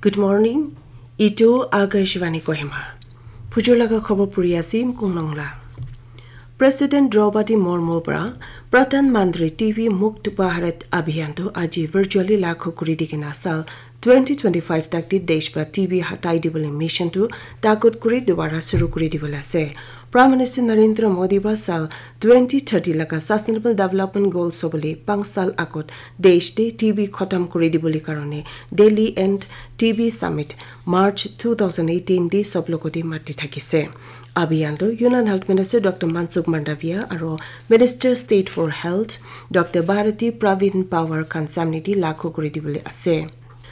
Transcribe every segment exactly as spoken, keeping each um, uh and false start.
Good morning. Itu Akashvani Kohima. Phujur laga khobor puri ase Mkong Nongla. President Draupadi Murmu pra Pradhan Mantri T B Mukt Bharat Abhiyan tu aji virtually lakhu kuri dikena sal twenty twenty-five tak di desh pra T B hatai dibole mission tu takut kuri dubara suru kuri dibole ase. Prime Minister Narendra Modi pra sal twenty thirty laga Sustainable Development Goals sobole pang sal akot desh de T B khotam kuri dibole karone Delhi End T B Summit March two thousand eighteen de sob logoti mati thakise. Abhiyan tu Union Health Minister Doctor Mansukh Mandaviya aro Minister State for Health Doctor Bharati Pravin Pawar khan samne di lakhu kuri dibole ase.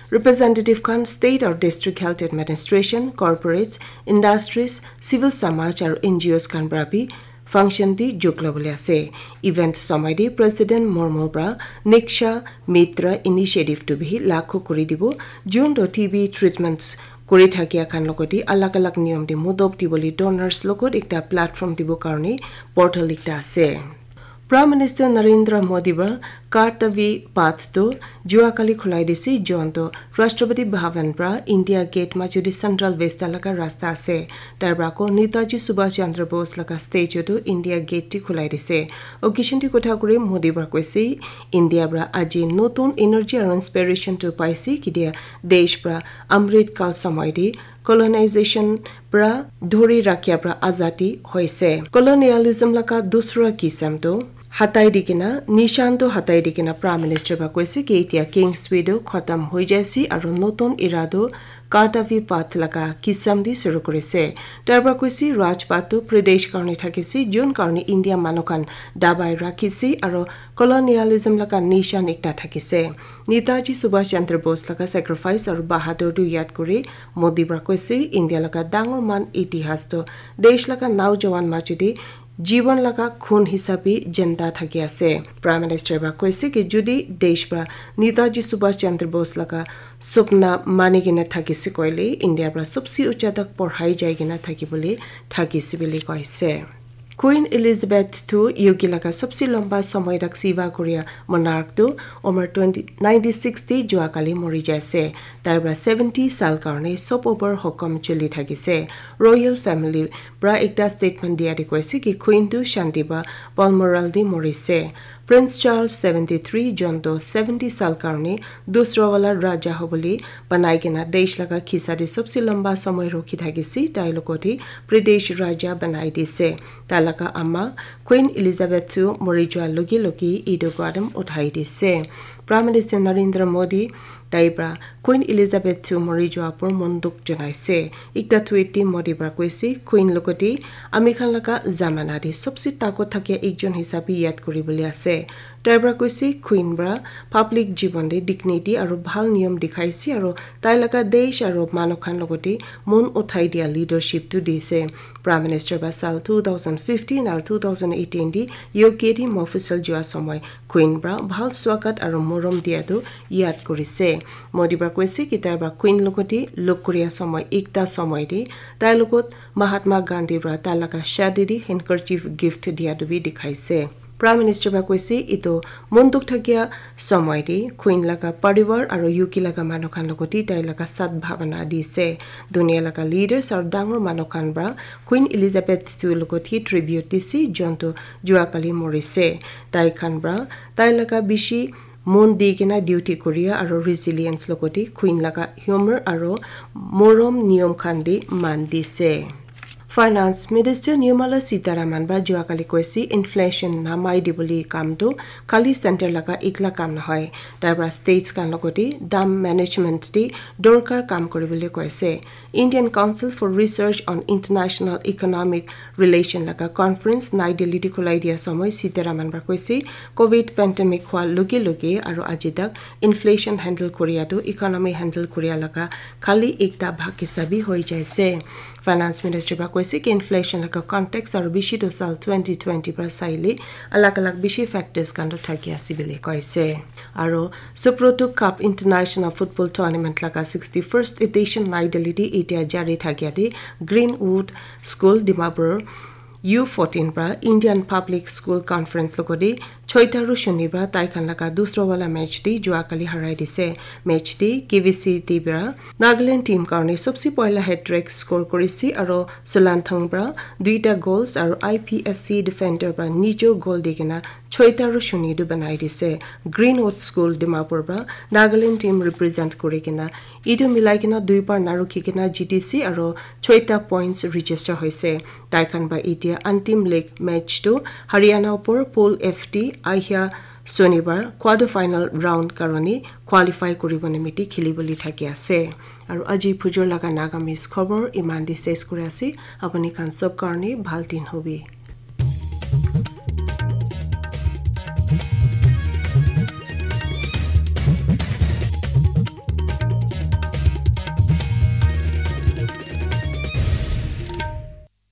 Representative khan state or district health administration, corporates, industries, civil samaj aru N G Os khan pra bi function di jog lobole ase. Event somoi di President Murmu pra Niksha Mitra initiative tu bi lakhu kuri dibo, jun to T B treatments kuri thakia khan logoti alag alag niyom di mudop dibole donors logot ekta platform dibo karone portal ekta ase. Prime Minister Narendra Modi pra Kartavi Path tu jua kali khulai dise, jon tu Rashtrapati Bhavan pra India Gate majudi Central Vista laga rasta ase. Tar pra ko Netaji Subhash Chandra Bose laga statue tu India Gate ti khulai dise. Occasion ti kotha kuri Modi pra koise, India pra aji notun energy aru inspiration tu paise, kidia desh pra Amrit Kal somoi di colonization pra dhuri rakhia pra azadi hoise. Colonialism laga dusra kisam tu hatai dikena, nishan tu hatai dikena Prime Minister pra koise ki itia King's Way tu khatam hoi jaise aru notun era tu Kartavi Path laga kisam di suru kurise. Tar pra koise Rajpath tu British karone thakise, jun karone India manu khan dabai rakhise aru colonialism laga nishan ekta thakise. Netaji Subhash Chandra Bose laga sacrifice aru bahadur tu yad kuri Modi pra koise, India laga dangor man itihas tu desh laga naujawan majudi jiwan laga khun hisabe jenda thaki ase. Prime Minister pra koise ki judi desh pra Netaji Subhash Chandra Bose laga supna mani kena thakise koile India pra sobse ucha tak porhai jai kena thaki bole thakise bole koise. Queen Elizabeth tu U K laga sobse lamba somoi tak seva koria monarch tu umar twenty, ninety six te jua kali mori jaise. Tar pra seventy sal karone sob over hokom chuli thakise. Royal family pra ekta statement dia de koise ki Queen tu shanti ba Balmoral de morise. Prince Charles seventy three jon to seventy sal karone dusra wala raja hobole banai kena desh laga khisa de sobse lamba somoi rokhi thakise, tai logot hi British raja banai dise. Tai laga ama Queen Elizabeth tu mori jua loge loge etu kadam uthai dise. Prime Minister Narendra Modi tai pra Queen Elizabeth tu mori jua por mon dukh janaise. Ekta tweet te Modi pra koise, Queen logot te ami khan laga zamana te sobse takot thakia ekjon hisabe yad kuribole ase. Tai pra koise, Queen pra public jiban te dignity aru bhal niyom dikhaise aru tai laga desh aru manu khan logot te mon uthai dia leadership tu dise. Prime Minister ba sal two thousand fifteen aru two thousand eighteen di U K di mofusal jua somoi Queen pra bhal swagat aru morom dia tu yad kurise. Modi pra koise ki tai pra Queen logot di log kuria somoi ekta somoi di tai logot Mahatma Gandhi pra tai laga shadi di handkerchief gift dia tu bi dikhaise. Prime Minister pra koise, etu mon dukh thakia somoi te Queen laga parivar aru U K laga manu khan logot te tai laga sat bhavana dise. Dunia laga leaders aru dangor manu khan pra Queen Elizabeth tu logot hi tribute dise, jon tu jua kali morise. Tai khan pra tai laga bishi mon di kena duty koria aru resilience logot te Queen laga humor aru morom niyom khan de man dise. Finance Minister Nirmala Sitharaman ba jua kali koise inflation namai dibole kam tu khali center laga ekla kam nohoi. Tai pra states khan logot te dam management te dorkar kam kuribole koise. Indian Council for Research on International Economic Relation laga conference Nai Delhi te khulai dia somoi Sitharaman pra koise, Covid pandemic hua loge loge aru aji tak inflation handle kuria tu economy handle kuria laga khali ekta bhag hisabe hoi jaise. Finance Minister pra koise ki inflation laga context aru bishi tu sal twenty twenty pra saile alag alag bishi factors khan tu thaki ase bole koise. Aru Subrata Cup International Football Tournament laga sixty first edition Nai Delhi te itia jari thakia te Greenwood School Dimapur U fourteen pra Indian Public School Conference logodi choita ru shuni pra tai khan laga dusra wala match di jua kali harai dise. Match di K V C T pra Nagaland team karne sobse poila hat-trick score kurisi aro Sulanthang pra duita goals aro I P S C defender pra nijor goal di kena choita ru shuni tu banai dise. Greenwood School Dimapur pra Nagaland team represent kuri kena itu milai kena dui par na rukhi kena G T C aro choita points register hoise. Tai khan ba itia antim leg match tu Haryana upor Pool F T ahia Sonibar quarter final round karone qualify kuribo nimiti khilibole thaki ase. Aru aji phujor laga Nagamese khobor iman di ses kuri ase. Apuni khan sob karone bhal din hobi.